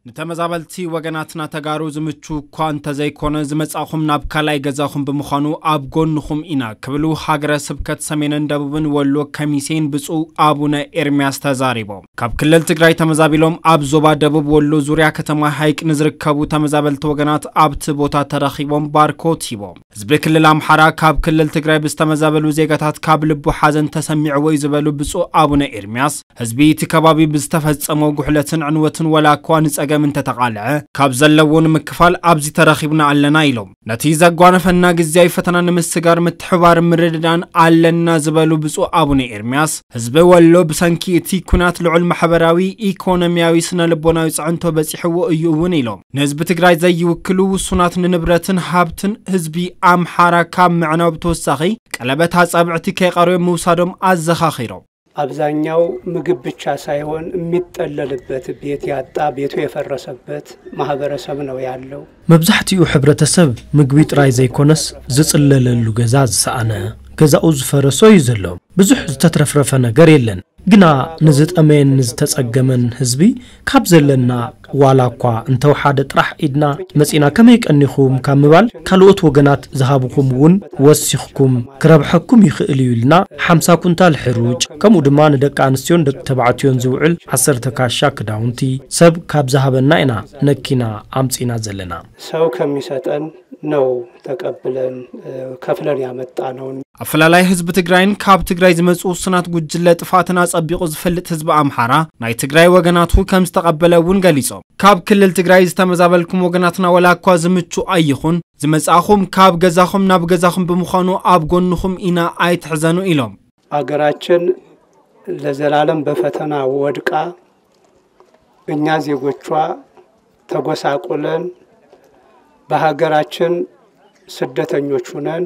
ንተመዛበልቲ ወገናትና ተጋሩ ዝምቹ እኳ እንተዘይኮነ፣ ዝመጻኹም ናብ ካልኣይ ገዛኹም ብምዃኑ ኣብ ጎንኹም ኢና ክብሉ ሃገረ ስብከት ሰሜንን ደቡብን ወሎ ከሚሴን ብፁዕ ኣቡነ ኤርሚያስ ተዛሪቦም። ካብ ክልል ትግራይ ተመዛቢሎም ኣብ ዞባ ደቡብ ወሎ ዙርያ ከተማ ሃይቅ ንዝርከቡ ተመዛበልቲ ወገናት ኣብቲ ቦታ ተረኺቦም ባርኮት ሂቦም። ህዝቢ ክልል ኣምሓራ ካብ ክልል ትግራይ ብዝተመዛበሉ ዜጋታት ካብ ልቡ ሓዘን ተሰሚዕዎ እዩ ዝበሉ ብፁዕ ኣቡነ ኤርሚያስ፣ ህዝቢ እቲ ከባቢ ብዝተፈጸሞ ጉሕለትን ዕንወትን ዋላ እኳ ንጸገም እንተተቓልዐ፣ ካብ ዘለዎ ንምክፋል ኣብዚ ተረኺብና ኣለና ኢሎም። ነቲ ዘጓነፈና ግዝያዊ ፈተና ንምስጋር ምትሕባር ምርድዳን ኣለና ዝበሉ ብፁዕ ኣቡነ ኤርሚያስ፣ ህዝቢ ወሎ ብሰንኪ እቲ ኲናት ልዑል ማሕበራዊ፣ ኢኮኖሚያዊ፣ ስነ ልቦናዊ ጽዕንቶ በጺሕዎ እዩ እውን ኢሎም። ንህዝቢ ትግራይ ዘይውክሉ ውሱናት ንንብረትን ሃብትን ህዝቢ ኣምሓራ ካብ ምዕናው ብተወሳኺ ቀለበት ኣጻብዕቲ ከይቐርዮም ምውሳዶም ኣዘኻኺሮም። አብዛኛው ምግብ ብቻ ሳይሆን የሚጠለልበት ቤት ያጣ፣ ቤቱ የፈረሰበት ማህበረሰብ ነው ያለው። መብዛሕትኡ ሕብረተሰብ ምግቢ ጥራይ ዘይኮነስ ዝጽለለሉ ገዛ ዝሰኣነ፣ ገዛኡ ዝፈረሶ እዩ ዘሎ። ብዙሕ ዝተትረፍረፈ ነገር የለን። ግና ንዝጠመየን ንዝተጸገመን ህዝቢ ካብ ዘለና ዋላ እኳ እንተወሓደ ጥራሕ ኢድና መጺና ከመይ ቀኒኹም ካብ ምባል ካልኦት ወገናት ዝሃብኹም እውን ወሲኽኩም ክረብሐኩም ይኽእል እዩ ኢልና ሓምሳ ኩንታል ሕሩጭ ከምኡ ድማ ንደቂ ኣንስትዮን ደቂ ተባዕትዮን ዝውዕል ዓሰርተ ካሻ ክዳውንቲ ሰብ ካብ ዝሃበና ኢና ነኪና ኣምጺና ዘለና። ሰው ከሚሰጠን ነው ተቀብለን ከፍለን ያመጣነውን። ኣፈላላይ ህዝቢ ትግራይን ካብ ትግራይ ዝመፁ ውሱናት ጉጅለ ጥፋትን ኣፀቢቑ ዝፈልጥ ህዝቢ ኣምሓራ ናይ ትግራይ ወገናቱ ከም ዝተቐበለ እውን ገሊፆም። ካብ ክልል ትግራይ ዝተመዛበልኩም ወገናትና ዋላ እኳ ዝምቹ ኣይኹን ዝመፃኹም ካብ ገዛኹም ናብ ገዛኹም ብምዃኑ ኣብ ጎንኹም ኢና ኣይትሕዘኑ ኢሎም። አገራችን ለዘላለም በፈተና ወድቃ እኛ ዜጎቿ ተጎሳቁለን በሀገራችን ስደተኞች ሁነን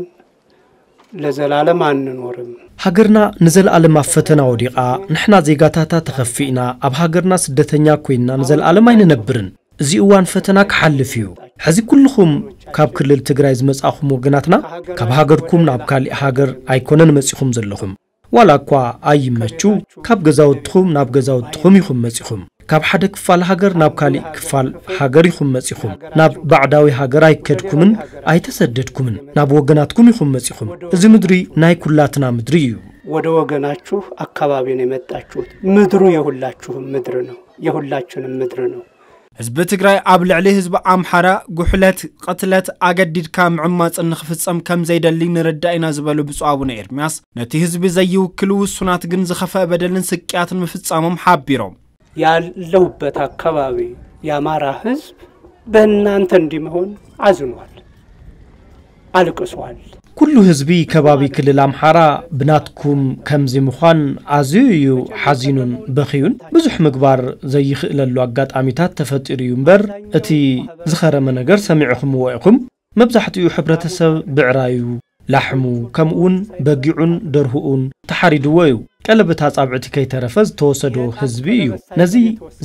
ለዘላለም አንኖርም። ሃገርና ንዘለኣለም ኣብ ፈተና ወዲቓ ንሕና ዜጋታታ ተኸፊእና ኣብ ሃገርና ስደተኛ ኮይንና ንዘለኣለም ኣይንነብርን። እዚ እዋን ፈተና ክሓልፍ እዩ። ሕዚ ኩልኹም ካብ ክልል ትግራይ ዝመጻኹም ወገናትና ካብ ሃገርኩም ናብ ካሊእ ሃገር ኣይኮነን መጺኹም ዘለኹም። ዋላ እኳ ኣይመቹ ካብ ገዛውትኹም ናብ ገዛውትኹም ኢኹም መጺኹም። ካብ ሓደ ክፋል ሃገር ናብ ካሊእ ክፋል ሃገር ኢኹም መጺኹም። ናብ ባዕዳዊ ሃገር ኣይከድኩምን ኣይተሰደድኩምን። ናብ ወገናትኩም ኢኹም መጺኹም። እዚ ምድሪ ናይ ኩላትና ምድሪ እዩ። ወደ ወገናችሁ አካባቢ ነው የመጣችሁት። ምድሩ የሁላችሁም ምድር ነው፣ የሁላችንም ምድር ነው። ህዝቢ ትግራይ ኣብ ልዕሊ ህዝቢ ኣምሓራ ጉሕለት፣ ቅትለት፣ ኣገዲድካ ምዕማፅን ንኽፍፀም ከም ዘይደሊ ንርዳእ ኢና ዝበሉ ብፁዕ ኣቡነ ኤርሚያስ፣ ነቲ ህዝቢ ዘይውክሉ ውሱናት ግን ዝኸፈአ በደልን ስቅያትን ምፍፃሞም ሓቢሮም። ያለሁበት አካባቢ የአማራ ህዝብ በእናንተ እንዲህ መሆን አዝኗል፣ አልቅሷል። ኩሉ ህዝቢ ከባቢ ክልል ኣምሓራ ብናትኩም ከምዚ ምዃን ኣዝዩ እዩ ሓዚኑን በኽዩን። ብዙሕ ምግባር ዘይኽእለሉ ኣጋጣሚታት ተፈጢሩ እዩ እምበር፣ እቲ ዝኸረመ ነገር ሰሚዕኹምዎ ኢኹም። መብዛሕትኡ ሕብረተሰብ ብዕራዩ፣ ላሕሙ፣ ከምኡውን በጊዑን ደርሁኡን ተሓሪድዎ እዩ። ቀለበት ኣጻብዕቲ ከይተረፈ ዝተወሰዶ ህዝቢ እዩ። ነዚ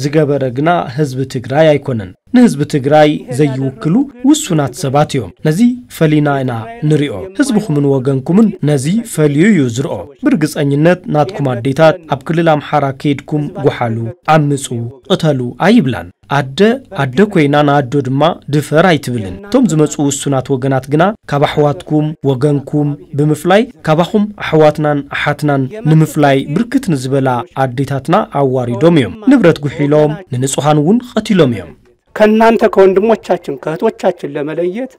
ዝገበረ ግና ህዝቢ ትግራይ ኣይኮነን። ንህዝቢ ትግራይ ዘይውክሉ ውሱናት ሰባት እዮም። ነዚ ፈሊና ኢና ንሪኦ። ህዝብኹምን ወገንኩምን ነዚ ፈልዩ እዩ ዝርኦ። ብርግጸኝነት ናትኩም ኣዴታት ኣብ ክልል ኣምሓራ ከይድኩም ጎሓሉ፣ ዓምጹ፣ ቅተሉ ኣይብላን። ኣደ ኣደ ኮይና ንኣዶ ድማ ድፈር ኣይትብልን። እቶም ዝመጹ ውሱናት ወገናት ግና ካብ ኣሕዋትኩም ወገንኩም ብምፍላይ ካባኹም ኣሕዋትናን ኣሓትናን ንምፍላይ ብርክት ንዝበላ ኣዴታትና ኣዋሪዶም እዮም። ንብረት ጉሒሎም ንንጹሃን እውን ቀቲሎም እዮም። ከእናንተ ከወንድሞቻችን ከእህቶቻችን ለመለየት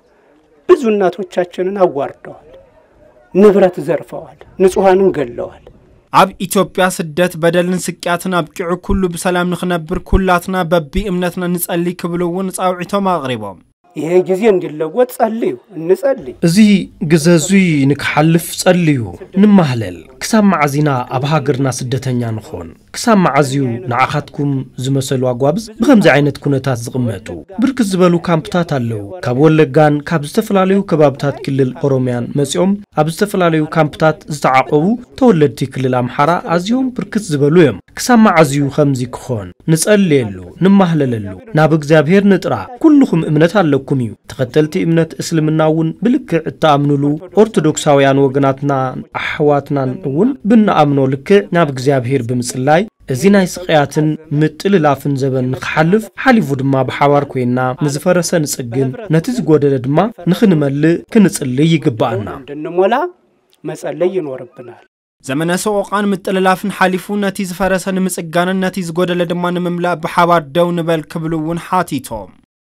ብዙ እናቶቻችንን አዋርደዋል፣ ንብረት ዘርፈዋል፣ ንጹሃንን ገለዋል። ኣብ ኢትዮጵያ ስደት በደልን ስቅያትን ኣብቂዑ ኩሉ ብሰላም ንኽነብር ኩላትና በቢ እምነትና ንጸሊ ክብሉ እውን ጻውዒቶም ኣቕሪቦም። ይሄ ጊዜ እንዲለወጥ ጸልዩ፣ እንጸልይ። እዚ ግዘ እዙይ ንክሓልፍ ጸልዩ፣ ንማህለል። ክሳብ መዓዝ ኢና ኣብ ሃገርና ስደተኛ ንኾን? ክሳብ መዓዝ እዩ ንዓኻትኩም ዝመሰሉ ኣጓብዝ ብኸምዚ ዓይነት ኩነታት ዝቕመጡ? ብርክት ዝበሉ ካምፕታት ኣለዉ። ካብ ወለጋን ካብ ዝተፈላለዩ ከባብታት ክልል ኦሮምያን መጺኦም ኣብ ዝተፈላለዩ ካምፕታት ዝተዓቖቡ ተወለድቲ ክልል ኣምሓራ ኣዝዮም ብርክት ዝበሉ እዮም። ክሳብ መዓዝ እዩ ከምዚ ክኾን? ንጸልየሉ፣ ንማህለለሉ፣ ናብ እግዚኣብሔር ንጥራ። ኩልኹም እምነት ኣለኩም። ኩም እዩ። ተኸተልቲ እምነት እስልምና እውን ብልክዕ እተኣምኑሉ ኦርቶዶክሳውያን ወገናትና ኣሕዋትናን እውን ብንኣምኖ ልክዕ ናብ እግዚኣብሔር ብምጽላይ፣ እዚ ናይ ስቕያትን ምጥልላፍን ዘበን ንኽሓልፍ፣ ሓሊፉ ድማ ብሓባር ኮይና ንዝፈረሰ ንጽግን ነቲ ዝጎደለ ድማ ንኽንመልእ ክንጽልይ ይግብኣና። እንድንሞላ መጸለይ ይኖርብናል። ዘመነ ሰቆቃን ምጥልላፍን ሓሊፉ ነቲ ዝፈረሰ ንምጽጋንን ነቲ ዝጎደለ ድማ ንምምላእ ብሓባር ደው ንበል ክብሉ እውን ሓቲቶም።